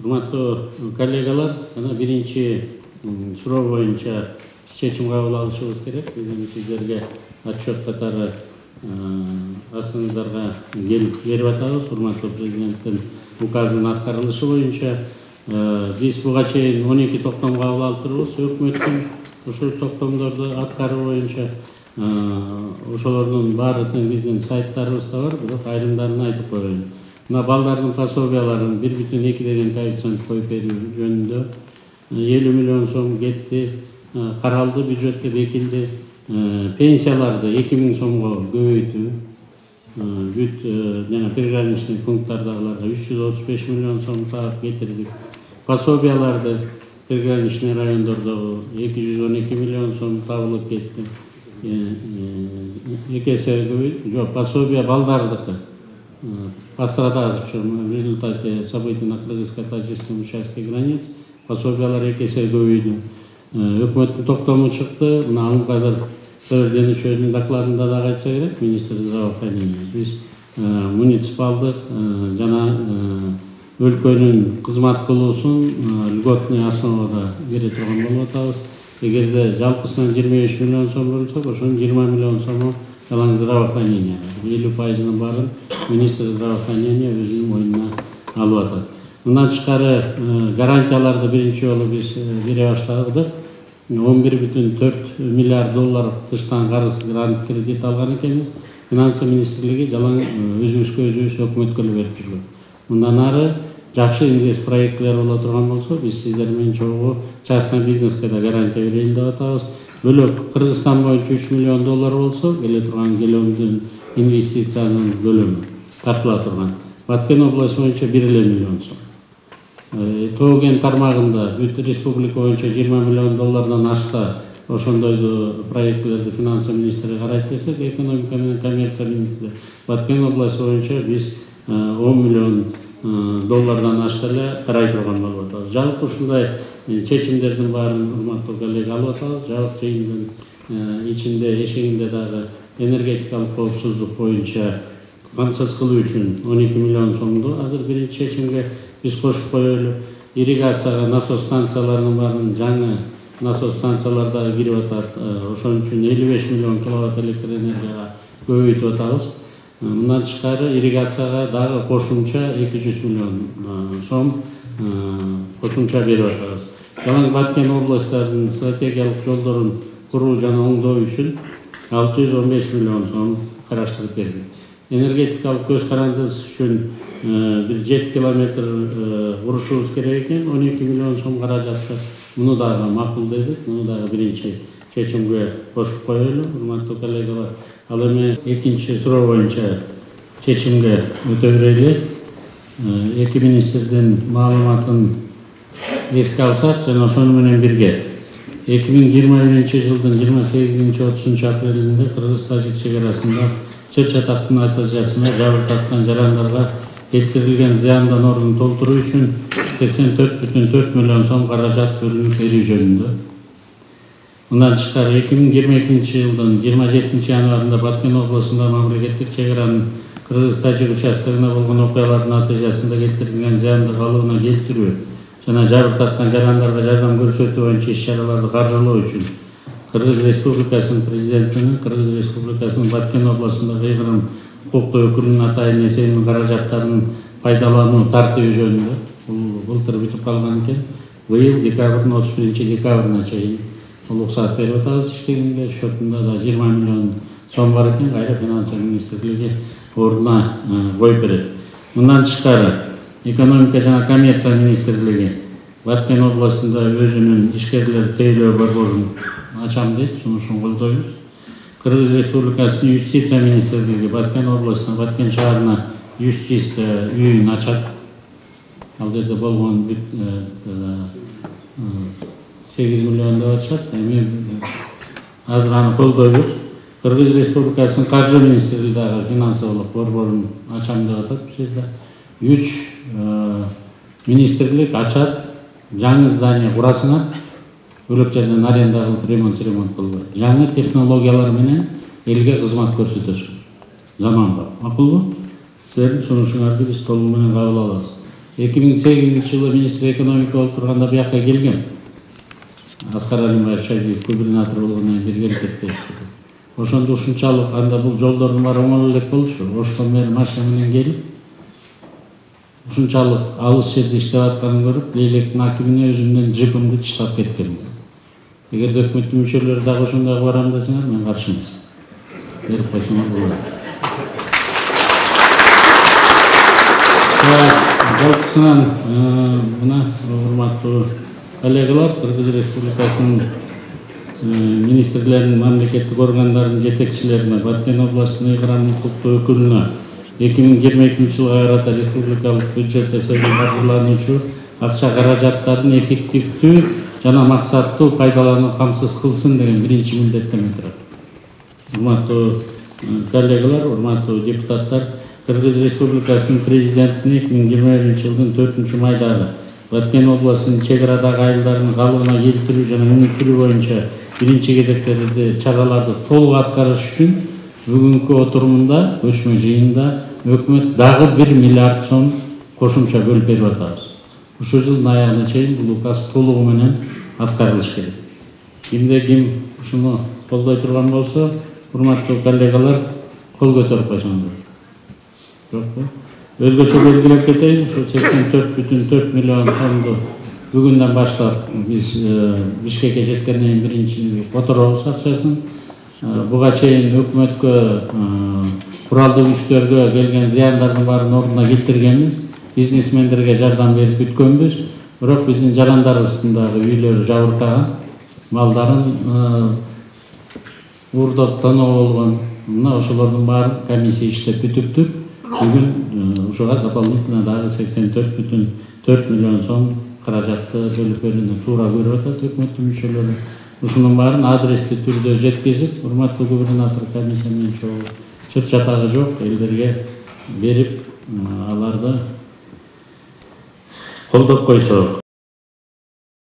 Урматтуу коллегалар, ana биринчи суроо боюнча чечим кабыл алышыбыз керек. Биз эми сиздерге отчет катары астыңыздарга берип атабыз. Урматтуу президенттин указынын аткарылышы боюнча биз буга чейин 12 токтом кабыл алып турбуз. Өкмөттүн ушул токтомдорду аткаруу боюнча ошолордун баары тең биздин сайттарыбызда бар, бирок айрымдарын айтып коеюн. Мына балдардын пособияларын 1,2 деген коэффициент коюп берүү жөнүндө 50 миллион сом кетти, каралды, бюджетте бекилди. Пенсияларды 2000 сомго көбөйтүү, бүт жана приграничный пункттардагыларга 335 миллион сом таап кетирдик. Пособияларды приграничный райондордогу 212 миллион сом табылып кетти. Эки эсе көбөйдү. Жок, пособия балдардыкы. Пострадавшим в результате событий на кыргызско-тажикском участке границ пособиялар эки эсе көбөйдү. Өкмөттүн токтому чыкты. Мына Алымкадыр Төрденичевдин докладында да айтса керек, министр здравоохранения. Биз муниципалдык жана өлкөнүн кызмат кылуусун льготный основада бере турган болуп атабыз. Эгерде жалпысынан 23 миллион сом бөлсөк, ошонун 20 миллион сому жалаң здравоохранение. 50%-ын баарын министр здравоохранения өзүнүн мойнуна алып атат. Мындан тышкары гарантияларды биринчи жолу биз бере баштадык. 11,4 миллиард доллар тыштан карыз грант кредит алган экенбиз. Финансы министрлиги жалаң өзүбүзгө өзүбүз өкмөткө эле берип жүргөн. Мындан ары жакшы инвест проекттер боло турган болсо, биз сиздер менен чогуу частный бизнеске да гарантия берейин деп атабыз. Бөлөк Кыргызстан боюнча 3 миллион доллар болсо, келе турган келөмдүн инвестициянын бөлүмү тартыла турган. Баткен областы боюнча 1 миллион сом. Тоо кен тармагында бүт республика боюнча 20 миллион доллардан ашса, ошондойду проектлерди финансы министри карайт десек, экономика менен коммерция министри Баткен областы боюнча биз 10 миллион доллардан ашса эле карай турган болуп атабыз. Жалпы ушундай чечимдердин баарын урматтуу коллега алып атабыз. Жабык жыйындын ичинде эшегинде дагы энергетикалык коопсуздук боюнча камсыз кылуу үчүн 12 миллион сомду азыр биринчи чечимге биз кошуп коелу. Ирригацияга насос станцияларынын баарын жаңы насос станциялар дагы кирип атат. Ошон үчүн 55 миллион киловатт электр энергияга көбөйтүп атабыз. Мындан тышкары ирригацияга дагы кошумча 200 миллион сом кошумча берип атабыз. Жалаң Баткен областарынын стратегиялык жолдорун куруу жана оңдоо үчүн 615 миллион сом караштырып бердик. Энергетикалык көз карандысыз үчүн бир 7 километр урушубуз керек экен, 12 миллион сом каражатты. Муну дагы макул дедик, муну дагы биринчи чечимге кошуп коелу. Урматтуу коллегалар, ал эми экинчи суроо боюнча чечимге өтө берели. Эки министрдин маалыматын эске алсак, жана ошону менен бирге 2021 жылдын 28-30 апрелинде Кыргыз-Тажик чегарасында чыр чатактын натыйжасында жабыр тарткан жарандарга келтирилген зыяндын ордун толтуруу үчүн 84,4 миллион сом каражат бөлүнүп берүү жөнүндө. Мындан тышкары 2022 жылдын 27 январында Баткен областында мамлекеттик чегаранын Кыргыз-Тажик участогуна болгон окуялардын натыйжасында келтирилген зыянды калыбына келтирүү жана жабыр тарткан жарандарга жардам көрсөтүү боюнча иш-чараларды каржылоо үчүн Кыргыз Республикасынын президентинин Кыргыз Республикасынын Баткен областындагы ыйгырым укуктуу өкүлүнүн атайын эсебинин каражаттарын пайдалануу тартиби жөнүндө былтыр бүтүп калган экен. Быйыл декабрдын 31 декабрына чейин уруксат берип атабыз иштегенге. Счетунда да 20 миллион сом бар экен, кайра финансы министрлиги ордуна коюп берет. Мындан тышкары экономика жана коммерция министрлиги Баткен областында өзүнүн ишкерлер тейлөө борборун ачам дейт, сунушун колдойбуз. Кыргыз Республикасынын юстиция министрлиги Баткен областына, Баткен шаарына юстиция үйүн ачат. Ал жерде болгон 8 миллион деп атышат. Эми азыр аны колдойбуз. Кыргыз Республикасынын каржы министрлиги дагы финансылык борборун ачам деп атат. Бул жерде 3 министрлик ачат, жаңы здание курасыңар, бөлөк жерден аренда кылып ремонт кылбай. Жаңы технологиялар менен элге кызмат көрсөтөсүңөр. Заманбап. Макулбу? Силердин сунушуңарды биз толугу менен кабыл алабыз. 2008-жылы министр экономика болуп турганда бияка келгем. Аскар Алимбаев Шадиев губернатор болгондон кийин бир келип кетпейсизби. Ошондо ушунчалык анда бул жолдордун баары оңой элек болчу. Оштон бери машина менен келип ушунчалык алыс жерде иштеп атканын көрүп, Лейлектин акимине өзүмдүн джипимди чыштап кеткем. Эгерде өкмөттүн мүчөлөрү дагы ошондой барам десеңер, мен каршы эмесмин. Берип койсоңор болот. Жалпысынан мына урматтуу коллегалар, Кыргыз Республикасынын министрлеринин, мамлекеттик органдардын жетекчилерине, Баткен областынын ыйгырам укуктуу өкүлүнө 2022-жылга карата республикалык бюджет эсебинен каржылануучу акча каражаттарын эффективдүү жана максаттуу пайдалануу камсыз кылсын деген биринчи милдеттеме турат. Урматтуу коллегалар, урматтуу депутаттар, Кыргыз Республикасынын президентине 2021-жылдын 4-майдагы Баткен областынын чек арадагы айылдардын калыбына келтирүү жана өнүктүрүү боюнча биринчи кезектеги чараларды толук аткарыш үчүн бүгүнкү отурумунда, көчмө жыйында өкмөт дагы 1 миллиард сом кошумча бөлүп берип атабыз. Ушул жылдын аягына чейин бул указ толугу менен аткарылыш керек. Кимде ким ушуну колдой турган болсо, урматтуу коллегалар, кол көтөрүп койсоңуздар. Жокпу? Өзгөчө белгилеп кетейин, ушу 84,4 миллион сомду бүгүндөн баштап биз Бишкекке жеткенден кийин биринчи которобуз акчасын. Буга чейин өкмөткө, куралдуу күчтөргө келген зыяндардын баарын ордуна келтиргенбиз. Бизнесмендерге жардам берип бүткөнбүз. Бирок биздин жарандарыбыздын дагы үйлөрү жабыркаган, малдарын уурдоп тоноо болгон. Мына ошолордун баарын комиссия иштеп бүтүптүр. Бүгүн ушуга дополнительно дагы 84,4 миллион сом каражатты бөлүп берүүнү туура көрүп атат өкмөттүн мүчөлөрү. Ушунун баарын адрестүү түрдө жеткизип, урматтуу губернатор комиссия менен чогуу чыт чатагы жок элдерге берип, аларды колдоп койсок.